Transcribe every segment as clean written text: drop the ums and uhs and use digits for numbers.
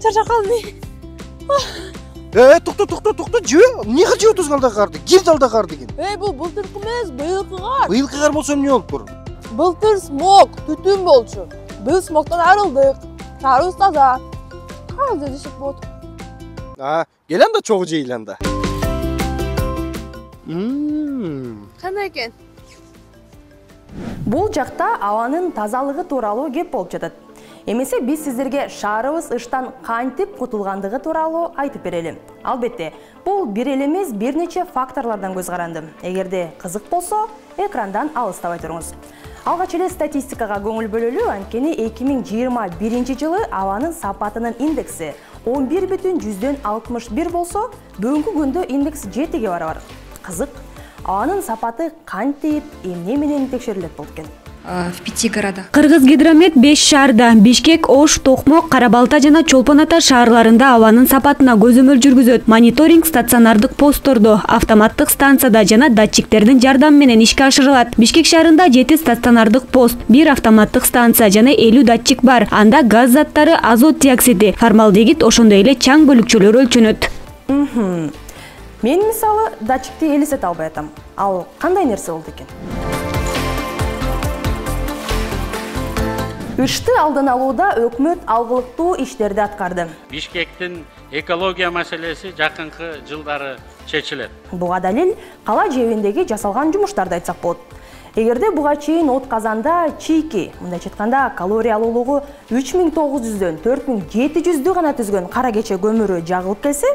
Чарчап калдым. Токто, жөө. Эмне кылып отурсуң алда карды? Ким алда кар деген? Бул былтыркы эмес, быйылкы кар. Быйылкы кар болсо эмне болуптур? Былтыр смог, түтүн болчу. Быйыл смогдон арылдык. Шаарыбыз таза. Казыр дешип болот. Кел анда чогуу жейли анда. Кандай экен? Бул жакта абанын тазалыгы тууралуу кеп болуп жатат. Эмесе биз сиздерге шаарыбыз ыштан кантип кутулгандыгы тууралуу айтып берели. Албетте, бул бир эле эмес, бир нече факторлордон көз каранды. Эгерде кызык болсо, экрандан алыстабай туруңуз. Алгач эле статистикага көңүл бөлөлү, анткени 2021 жылы абанын сапатынын индекси 11,61 болсо, бүгүнкү күндө индекс 7ге барабар. Кызык, абанын сапаты кантип, эмне менен текшерилет болот экен? В 5 городах. Кыргызгидромет 5 шаарда Бишкек, Ош, Токмок, Кара-Балта жана Чолпон Ата шаарларында абанын сапатына көзөмөл жүргүзөт. Мониторинг стационардык посттордо, автоматтык станцияда жана датчиктердин жардамы менен ишке ашырылат. Бишкек шаарында 7 стационардык пост, 1 автоматтык станция жана 50 датчик бар. Анда газ заттары, азот диоксиди, формалдегид, ошондой эле чаң бөлүкчөлөр өлчөнөт. Мен мисалы датчикти элестете албай атам. Ал кандай нерсе болду экен? Ышты алдын алууда өкмөт алгылыктуу иштерди аткарды. Бишкектин экология маселеси жакынкы жылдары чечилет. Буга далил кала жебиндеги жасалган жумуштарды айтсак болот. Эгерде буга чейин от казанда чийки, мындайча айтканда калориялуулугу 3900дөн 4700дү гана түзгөн кара кече көмүрү жагылып келсе,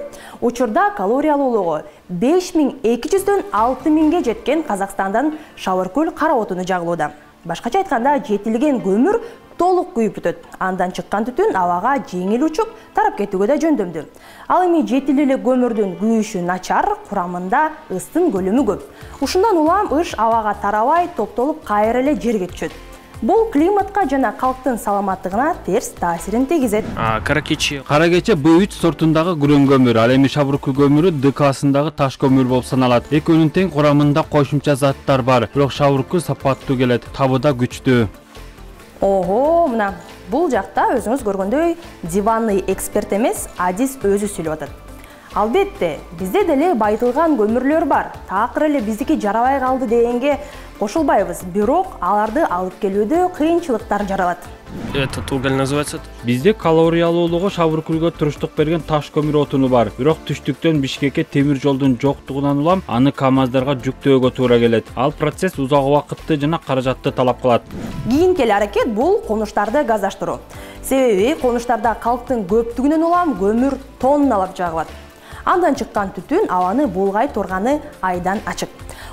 учурда калориялуулугу 5200дөн 6000ге жеткен Казакстандан Шабыркөл кара отуну жагылууда. Башкача айтканда, жетилген көмүр толук күйүп бүтөт. Андан чыккан түтүн абага жеңил учуп, тарап кетүүгө да жөндөмдү. Ал эми жетил эле көмүрдүн күйүшү начар, курамында ыстын көлөмү көп. Ушундан улам ыш абага тарабай, топтолуп кайра эле жерге түшөт. Бул климатка жана калктын саламаттыгына терс таасирин тийгизет. Кара кече B3 сортундагы күрөң көмүр, ал эми Шабыркөл көмүрү ДКсындагы таш көмүр болуп саналат. Экөөнүн тең курамында кошумча заттар бар, бирок Шабыркөл сапаттуу келет, табы да күчтүү. Ого, мына бул жакта өзүңүз көргөндөй диванный эксперт эмес, адис өзү сүйлөп атат. Албетте, бизде деле байытылган көмүрлөр бар. Такыр эле биздики жарабай калды дегенге кошулбайбыз, бирок аларды алып келүүдө кыйынчылыктар жаралат. Этот уголь называется? Бизде калориялуулугу Шабыркөлгө туруштук берген таш көмүр отуну бар. Бирок түштүктөн Бишкекке темир жолдун жоктугунан улам аны КАМАЗдарга жүктөөгө туура келет. Ал процесс узак убакытты жана каражатты талап кылат. Кийинки аракет бул конуштарды газдаштыруу. Себеби конуштарда калктын көптүгүнөн улам көмүр тонналап жагылат. Андан чыккан түтүн абаны булгай турганы айдан ачык.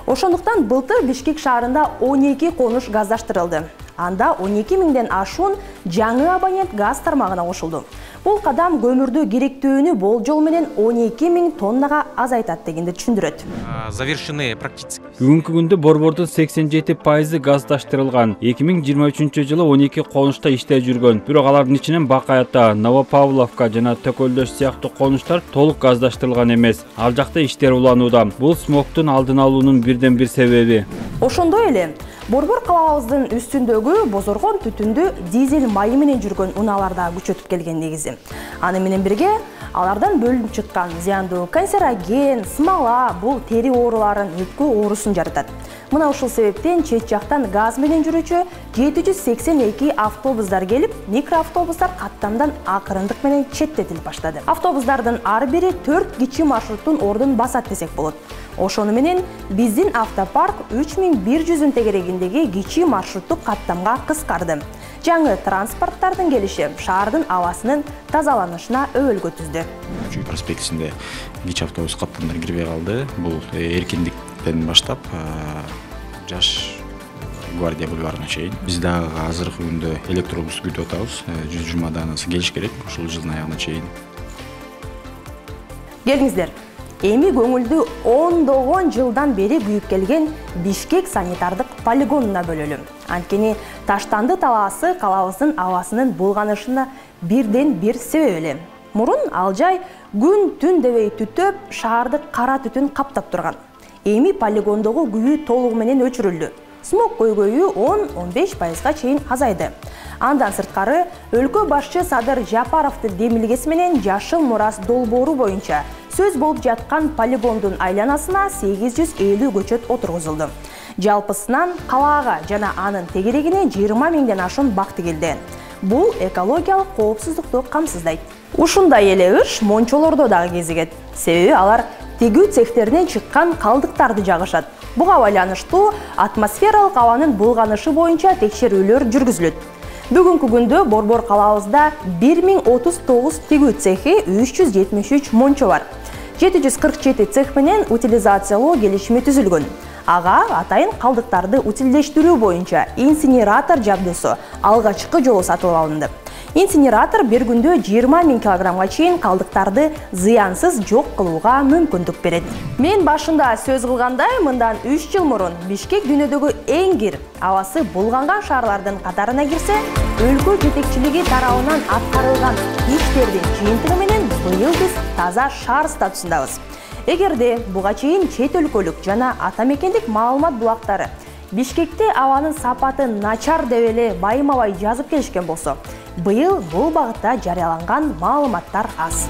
Ошондуктан былтыр Бишкек шаарында 12 конуш газдаштырылды. Анда 12 миңден ашуун жаңы абонент газ тармагына кошулду. Бул кадам көмүрдү керектөөнү болжол менен 12 миң тоннага азайтат дегенди түшүндүрөт. Завершены практически. Бүгүнкү күндө борбордун 87% газдаштырылган. 2023 жылы 12 конушта иштей жүргөн. Бирок алардын ичинен Бакаята, Новопавловка жана Төкөлдөш сыяктуу конуштар толук газдаштырылган эмес. Ал жакта иштер уланууда. Бул смогтун алдын алуунун бирден бир себеби. Ошондой эле борбор калабыбыздын үстүндөгү бозоргон түтүндү дизель майы менен жүргөн унааларда күчөтүп келген негизи. Аны менен бирге алардан бөлүнүп чыккан зыяндуу канцероген, смола бул тери ооруларын, өпкө оорусун жаратат. Мына ушул себептен чет жактан газ менен жүрүүчү 782 автобустар келип, микроавтобустар каттамдан акырындык менен четтетилип баштады. Автобустардын ар бири 4 кичи маршруттун ордун басат десек болот. Ошону менен биздин автопарк 3100 тегерегиндеги кичи маршруттук каттамга кыскарды. Жаңы транспорттардын келиши шаардын абасынын тазаланышына өбөлгө түздү. Чүй проспектисинде кичи автобус каттамдар кирбей калды. Бул эркиндиктен баштап Жаш Гвардия бульварына чейин. Биз дагы азыркы күндө электробус күтүп атабыз. 100 жумадан келиш керек ушул жылдын аягына чейин. Келиңиздер. Эми көңүлдү ондогон жылдан бери күйүп келген Бишкек санитардык полигонуна бөлөлү. Анткени Таштанды талаасы калабыздын абасынын булганышына бирден бир себеп эле. Мурун ал жай күн түн дебей түтөп, шаарды кара түтүн каптап турган. Эми полигондогу күйүү толугу менен өчүрүлдү. смог көйгөйү 10–15% чейин азайды. Андан сырткары, өлкө башчы Садыр Жапаровдун демилгеси менен Жашыл Мурас долбоору боюнча сөз болуп жаткан полигондун айланасына 850 көчөт отургузулду. Жалпысынан калаага жана анын тегерегине 20 миңден ашуун бак тигилди. Бул экологиялык коопсуздукту камсыздайт. Ушундай эле ыш мончолордо дагы кезигет. Себеби алар тигүү цехтеринен чыккан калдыктарды жагышат. Буга байланыштуу атмосфералык абанын булганышы боюнча текшерүүлөр жүргүзүлөт. Бүгүнкү күндө Борбор калабызда 1039 тигүү цехи, 373 мончо бар. 747 цех менен утилизациялоо келишими түзүлгөн. Ага атайын калдыктарды утилдештирүү боюнча инсинератор жабдысы алгачкы жолу сатылып алынды. Инсинератор бир күндө 20 000 килограммга чейин калдыктарды зыянсыз жок кылууга мүмкүндүк берет. Мен башында сөз кылгандай, мындан 3 жыл мурун Бишкек дүйнөдөгү эң кир, абасы булганган шаарлардын катарына кирсе, өлкө жетекчилиги тарабынан аткарылган иштердин жыйынтыгы менен быйыл биз таза шаар статусундабыз. Эгерде буга чейин чет өлкөлүк жана ата мекендик маалымат булактары Бишкекте абанын сапаты начар деп эле байма-бай жазып келишкен болсо, быйыл бул багытта жарыяланган маалыматтар аз.